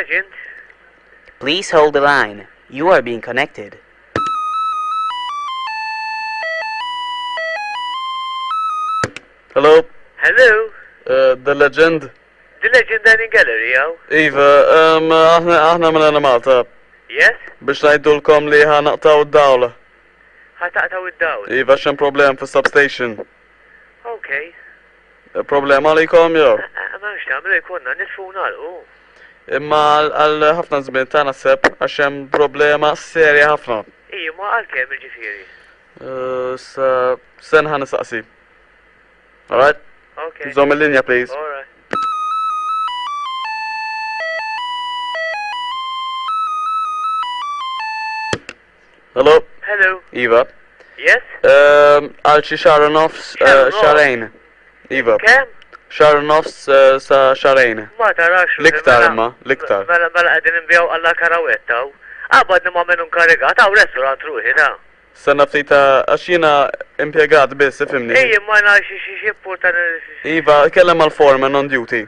Legend. Please hold the line. You are being connected. Hello, Hello, the Legend. The Legend Dining Gallery, hawn. Iva, um, aħna aħna minn għana Malta Yes? biex ngħidulkom li ħa naqtgħu d-dawl. Ħa taqtgħu id-dawl. Iva x'hemm problem fis substation. Okay. Problema għalikom jew? Ma nafx nagħmlu jkollna nitfu u nagħlqu. Imma għal ħafna żmien ta' naħseb għax hemm problema serja ħafna. Iji, ma għal kemm jiġifieri? Sa sen ħa nistaqsi. Alright? Okay. Żomm il-linja please. Alright. Hello? Hello. Iva. Yes? Għal xi xahar u nofs, Xahar u nofs. xahrejn. Iva. Kemm? Xahar u nofs sa xahrejn. Ma tarax. L-iktar mela- imma, l-iktar. Mela mela qegħdin inbiegħu alla karawetta hawn. Qabadni ma' min hu nkarigat hawn restaurant ruħi ta. Stenna ftit għax jiena impjegat biss, ifhimni. Ej imma jiena xi xi xi importani. Iva, kellem mal-foreman on duty.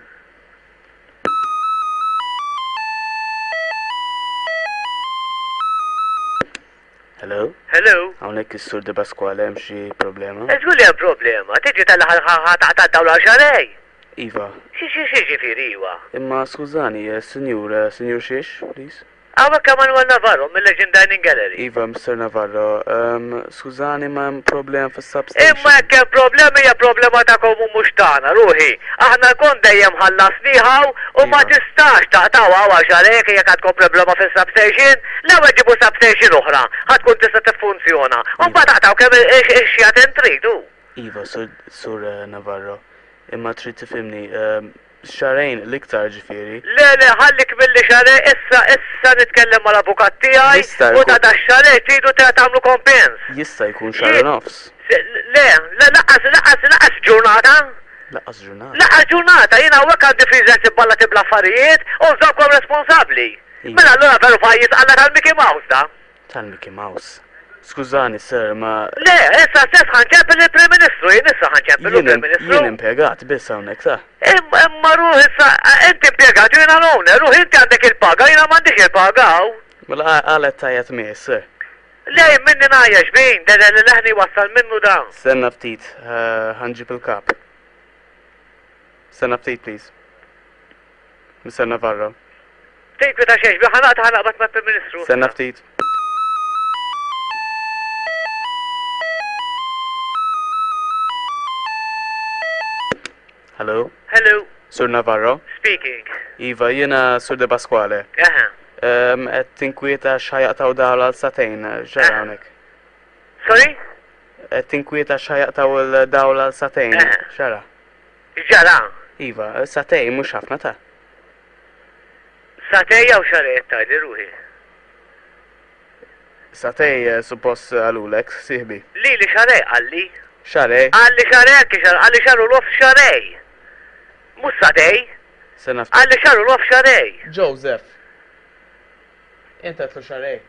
Hello? Hello? Hawnhekk is-Sur De Pasquale hemm xi problema? Żgur li hemm problema. Tiġi tal-aħħar ħa taqta' d-dawl għal xahrejn. Iva. Xi xi xi ġifieri iwa? Imma skużani, sinjur, sinjur xiex, please? Hawnhekk Emanuel Navarro mill-Legend Dining Gallery. Iva, Mister Navarro, skużani ma hemm problem fis-substation. Imma jekk hemm problemi hija problema tagħkom u mhux tagħna, ruħi. Aħna l-kont dejjem ħallasnih hawn u ma tistax taqtgħu hawn għax għalhekk jekk għandkom problema fis-substation, l-ewwel ġibu substation oħra ħa tkun tista' tiffunzjona u mbagħad aqtgħu kemm ix-xjaten tridu. Iva, Sur Sur Navarro, imma trid tifhimni, xahrejn l-iktar ġifieri. Le le ħallik milli xahrejn issa issa nitkellem mal-avukat tiegħi Jista' u jkun. ta' dax-xahrejn tridu tagħmlu kompens. Jista' jkun xahar u nofs. Le, le lanqas lanqas lanqas ġurnata. Lanqas ġurnata. Lanqas ġurnata, jien hawnhekk għandi freezers ibballati bl-affarijiet u nżommkom responsabbli. Iva. Mela allura veru pajjiż alla tal-Mickey Mouse da. Tal-Mickey Mouse. Skużani sir, ma. Le, issa stess ħa nċempel lill-Prim Ministru, jien issa ħa nċempel Jien lill-Prim Ministru. jien impjegat biss hawnhekk sa. Imma ruħ issa, inti impjegat u jiena l-owner, ruħ inti għandek il-paga, jiena m'għandix il-paga hawn. Mela għala qed tgħajjat miegħi sir? Le, jien minni ngħajja xbin, le le le leħni jwassal minnu dan. Stenna ftit, ħa nġib il-kap. Stenna ftit please. Mister Navarro. Tinkwita xejn, xbin, ħa naqta' ħa naqbad mal-Prim Ministru issa. Stenna ftit. Hello? Hello. Sur Navarro? Speaking. Iva, jiena Sur De Pasquale. Eħe. Qed tinkwieta x'ħa jaqtgħu dawl għal sagħtejn, x'ġara hawnhekk? Sorry? Qed tinkwieta x'ħa jaqtgħu l-dawl għal sagħtejn, x'ġara? X'ġara? Iva, sagħtejn mhux ħafna ta'. Sagħtejn jew xahrejn qed tgħidli ruħi? Sagħtejn suppost qalulek, sieħbi. Lili xahrejn qalli. Xahrejn? Qalli xahrejn anki xahar, qalli xahar u nofs xahrejn. Mhux sagħtejn. Stenna ftit. Qalli xahar u nofs xahrejn. Joseph. Int għedtlu xahrejn.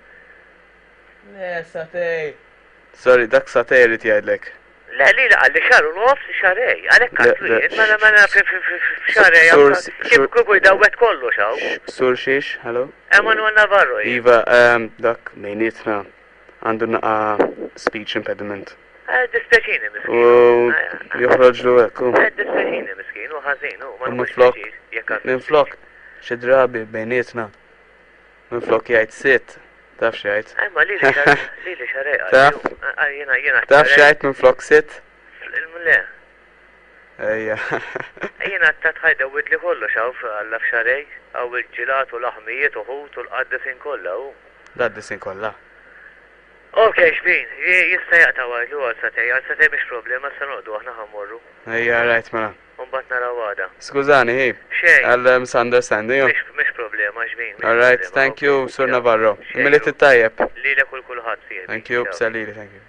Le, sagħtejn. Sorry, dak sagħtejn irid jgħidlek. Le, lili qalli xahar u nofs xahrejn. Għalhekk għedtlu jien, mela mela f'xahrejn kif kieku jdawwet kollox hawn. Sur xiex, hello? Emanuel Navarro jien. Iva, dak bejnietna għandu naqa speech impediment. Eh, dispjaċini miskin. U joħroġlu hekk. Eh, dispjaċini miskin, u ħażin, u ma Minflok, minflok, xi drabi bejnietna, minflok jgħid sitt, taf x'jgħid. Eh, ma lili lili xarej. Taf? Jiena jiena. Taf x'jgħid minflok sitt? Le. Ejja. Jiena ta' tħajda widli kollox hawn Alla f'xarej, hawn il-ġilat u l-aħmijiet u ħut u l-qaddisin kollha u. L-qaddisin kollha. Ok, xbin, jista' jaqta' għajlu għal satej, għal satej mhix problema, issa noqogħdu aħna ħa mmorru. Ejja, rajt mela. U mbagħad naraw għada. Skużani, hi. Xejn. Għal misunderstanding. Mhix problema, xbin. All right, thank you, Sur Navarro. Milied it-tajjeb. Lilek u l-kulħadd, sieħbi. Thank you, sellili, thank you.